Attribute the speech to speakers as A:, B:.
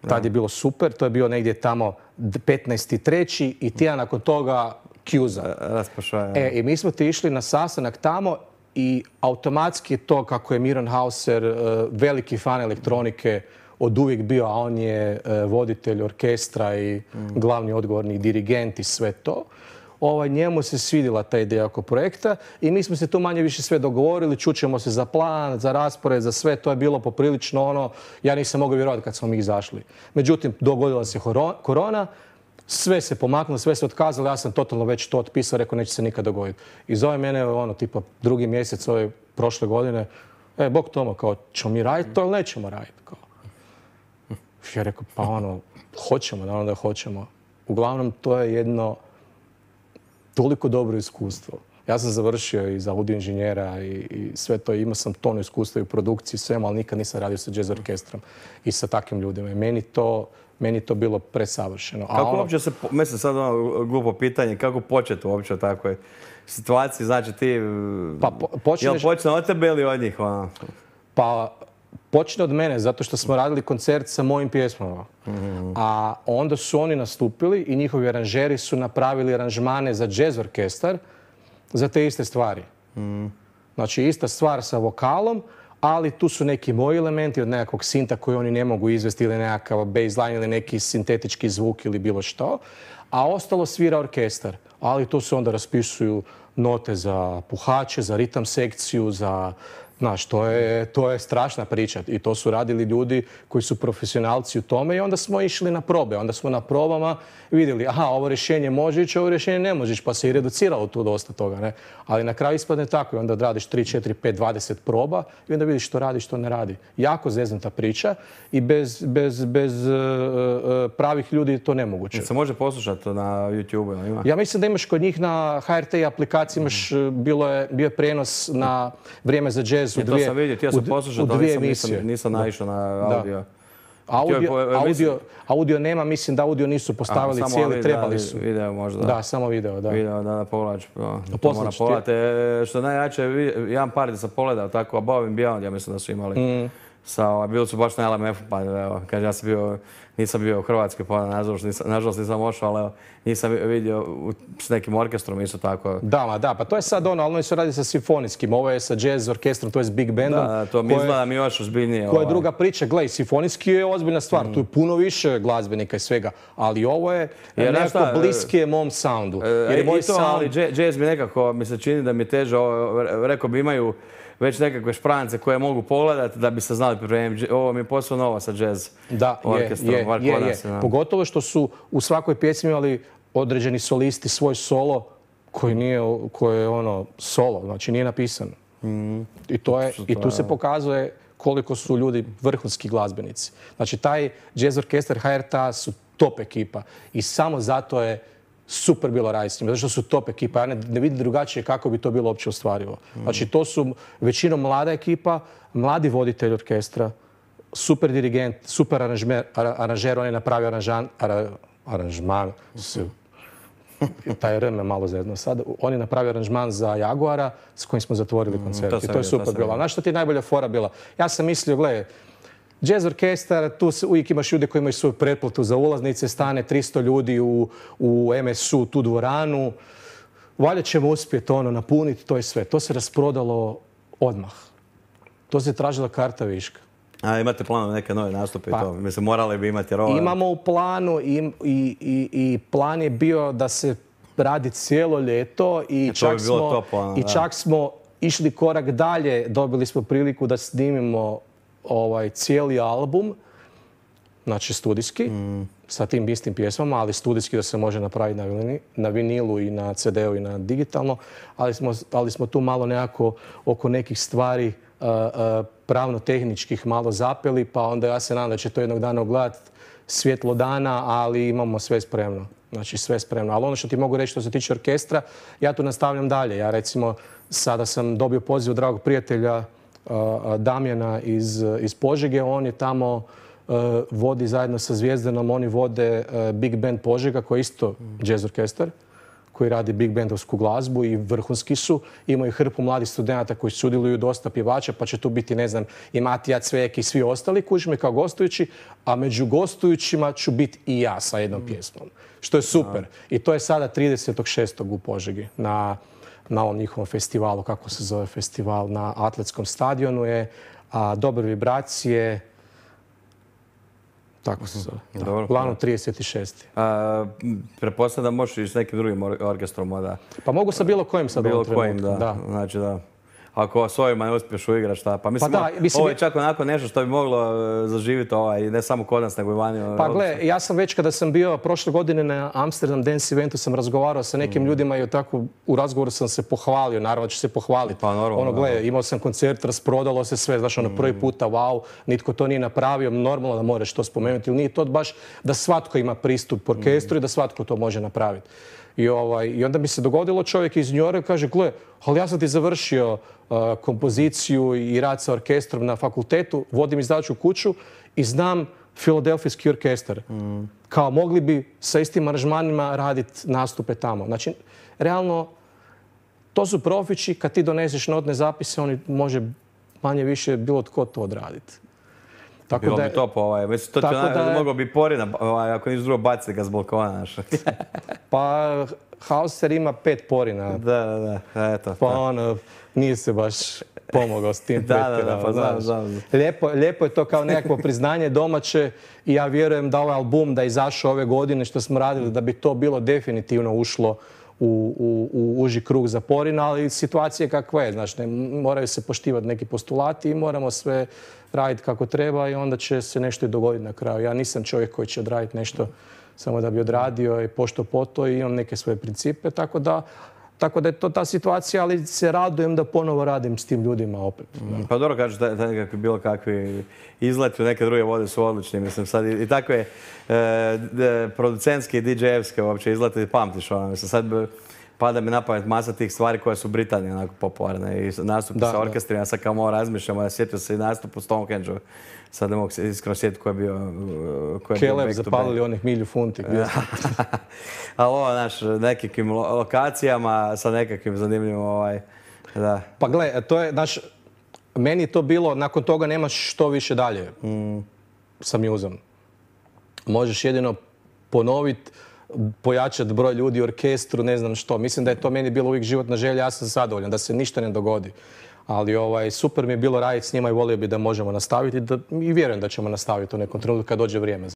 A: Tad je bilo super, to je bio negdje tamo 15.3. i tjedan nakon toga Kjuza. I mi smo ti išli na sastanak tamo i automatski to kako je Miron Hauser veliki fan elektronike od uvijek bio, a on je voditelj orkestra i glavni odgovorni dirigent i sve to. Njemu se svidjela ta ideja oko projekta i mi smo se tu manje više sve dogovorili, čućemo se za plan, za raspored, za sve. To je bilo poprilično ono, ja nisam mogao vjerovati kad smo mi izašli. Međutim, dogodila se korona, sve se pomaknulo, sve se otkazalo, ja sam totalno već to otpisao, rekao neće se nikad dogoditi. I zove mene tipa drugi mjesec ove prošle godine, Bog Tomo, kao ćemo mi raditi to ili nećemo raditi? Ja rekao, pa hoćemo, naravno da hoćemo. Uglavnom, to je jedno toliko dobro iskustvo. Ja sam završio i za audio inženjera i sve to, imao sam tonu iskustva i u produkciji, svema, ali nikad nisam radio sa jazz orkestrom i sa takvim ljudima. I meni to bilo presavršeno.
B: Kako uopće se, mislim sad glupo pitanje, kako početi uopće u takvoj situaciji? Znači ti, jel počne od tebe ili od njih?
A: Pa počne od mene, zato što smo radili koncert sa mojim pjesmama. A onda su oni nastupili i njihovi aranžeri su napravili aranžmane za jazz orkestar za te iste stvari. Znači, ista stvar sa vokalom, ali tu su neki moji elementi od nekakvog sinta koji oni ne mogu izvesti ili nekakav baseline ili neki sintetički zvuk ili bilo što. A ostalo svira orkestar. Ali tu se onda raspisuju note za puhače, za ritam sekciju, za... Znaš, to je strašna priča i to su radili ljudi koji su profesionalci u tome i onda smo išli na probe. Onda smo na probama vidjeli, ovo rješenje može ići, ovo rješenje ne može ići, pa se i reduciralo tu dosta toga, ne? Ali na kraju ispadne tako i onda odradiš 3, 4, 5, 20 proba i onda vidiš što radi, što ne radi. Jako zeznuta priča i bez pravih ljudi to nemoguće.
B: Se može poslušati na YouTube-u? Ima?
A: Ja mislim da imaš kod njih na HRT aplikaciji, bio je prijenos na Vrijeme za jazz
B: to sam vidio, htio sam poslušati, ali nisam naišao na audio.
A: Audio nema, mislim da audio nisu postavili cijeli, trebali su.
B: Video možda.
A: Da, samo video, da.
B: Video, da povlači. To mora pogledati. Što najjače, jedan par gdje sam pogledao tako, Above and Beyond, ja mislim da su imali. Bili su baš na LMF-u, pa evo, kaže ja nisam bio u Hrvatskoj, pa nažalost nisam ošao, ali nisam vidio s nekim orkestrom isto tako.
A: Da, pa to je sad ali oni su radi sa simfonijskim, ovo je sa jazz orkestrom, to je s big bandom.
B: Da, to mi izgleda mi još ozbiljnije.
A: Koja je druga priča, gledaj, simfonijski je ozbiljna stvar, tu je puno više glazbenika i svega, ali ovo je nekako bliskije mom soundu.
B: Ali jazz mi nekako, mi se čini da mi teže, rekao bi imaju već nekakve šprance koje mogu pogledati da bi se znali pripremiti. Ovo mi je posao novo sa jazz orkestrom.
A: Je. Pogotovo što su u svakoj pjesmi imali određeni solisti svoj solo koji je solo, znači nije napisan. I tu se pokazuje koliko su ljudi vrhunski glazbenici. Znači taj jazz orkestar HRT-a su top ekipa i samo zato je super bilo raditi s njima, zato što su top ekipa. Ja ne vidim drugačije kako bi to bilo uopće ostvarivo. Znači, to su većinom mlada ekipa, mladi voditelj orkestra, super dirigent, super aranžer, on je napravio aranžman, taj R me malo zezno sad, on je napravio aranžman za Jaguara s kojim smo zatvorili koncert i to je super bilo. Znaš što ti je najbolja fora bila? Ja sam mislio, gledaj, jazz orkestar, tu uvijek imaš ljude koji imaju svoju pretplatu za ulaznice, stane 300 ljudi u MSU, tu dvoranu. Valjda ćemo uspjeti napuniti, to je sve. To se rasprodalo odmah. To se tražila karta viška.
B: A imate planu neke nove nastupe i to? Mislim, morali bi imati rova.
A: Imamo u planu i plan je bio da se radi cijelo ljeto i čak smo išli korak dalje. Dobili smo priliku da snimimo cijeli album, znači studijski, sa tim istim pjesmama, ali studijski da se može napraviti na vinilu i na CD-u i na digitalno, ali smo tu malo nekako oko nekih stvari pravno-tehničkih malo zapeli, pa onda ja se nadam da će to jednog dana ogledati svjetlo dana, ali imamo sve spremno. Znači sve spremno. Ali ono što ti mogu reći što se tiče orkestra, ja tu nastavljam dalje. Ja recimo sada sam dobio poziv od dragog prijatelja Damjana iz Požege, on je tamo vodi zajedno sa Zvijezdanom, oni vode Big Band Požega koji je isto jazz orkestar, koji radi big bandovsku glazbu i vrhunski su. Imaju hrpu mladih studenata koji sudjeluju, dosta pjevača, pa će tu biti, ne znam, i Matija Cvek i svi ostali kužme kao gostujući, a među gostujućima ću biti i ja sa jednom pjesmom. Što je super. I to je sada 30.6. u Požegi na ovom njihovom festivalu, kako se zove festival, na atletskom stadionu je Dobre vibracije, tako se zove. Uglavnom 36.
B: Pretpostavljam da možeš i s nekim drugim orkestrom onda.
A: Pa mogu sa bilo kojim sad u ovom trenutku.
B: Bilo kojim, da. Znači da. Ako s ovima ne uspiješ uigrati šta. Pa mislim, ovo je čak onako nešto što bi moglo zaživjeti ne samo kod nas, nego i vani.
A: Pa gle, ja sam već kada sam bio prošle godine na Amsterdam Dance eventu, sam razgovarao sa nekim ljudima i tako u razgovoru sam se pohvalio, naravno ću se pohvaliti.
B: Pa normalno.
A: Gle, imao sam koncert, rasprodalo se sve, znaš, prvi puta, wow, nitko to nije napravio, normalno da moraš to spomenuti, ili nije to baš da svatko ima pristup orkestru i da svatko to može napraviti. I onda mi se dogodilo, čovjek iz New Yorka kaže, gle, ali ja sam ti završio kompoziciju i rad sa orkestrom na fakultetu, vodim izdavačku kuću i znam Filadelfijski orkestar. Kao mogli bi sa istim aranžmanima raditi nastupe tamo. Znači, realno, to su profići, kad ti doneseš notne zapise, oni može manje više bilo tko to odraditi.
B: Bilo bi top, mislim, to ti moglo bi Porina, ako niš drugo baciti ga s balkona.
A: Pa, Hauser ima 5 Porina.
B: Da, eto.
A: Pa ono, nije se baš pomogao s tim pretjerano.
B: Znam.
A: Lijepo je to kao nekakvo priznanje domaće i ja vjerujem da ovaj album da je izašao ove godine što smo radili, da bi to bilo definitivno ušlo u uži krug za Porina, ali situacija je kakva je. Znači, moraju se poštivati neki postulati i moramo sve raditi kako treba i onda će se nešto i dogoditi na kraju. Ja nisam čovjek koji će odraditi nešto samo da bi odradio i pošto po to i imam neke svoje principe, tako da je to ta situacija, ali se radujem da ponovo radim s tim ljudima opet.
B: Pa dobro kažeš da nekakvi bilo kakvi izleti u neke druge vode su odlični. Mislim, sad i takve producentske i DJ-evske uopće izleti pamtiš. Mislim, sad pada mi na pamet masa tih stvari koje su u Britaniji onako popularne i nastupi sa orkestrima. Sad kao malo razmišljamo, sjetio se i nastup u Stonehenge-u. Sad ne mogu se iskreno sjetiti koji je bio
A: Kelev zapalili onih 1000 funti.
B: Ali ovo, znaš, nekakvim lokacijama sa nekakvim zanimljivim da.
A: Pa gle, to je, znaš, meni je to bilo, nakon toga nemaš što više dalje sa Museom. Možeš jedino ponoviti, pojačati broj ljudi u orkestru, ne znam što. Mislim da je to meni bilo uvijek životna želja, ja sam zadovoljan, da se ništa ne dogodi. Ali super mi je bilo raditi s njima i volio bi da možemo nastaviti i vjerujem da ćemo nastaviti u nekom trenutku kad dođe vrijeme.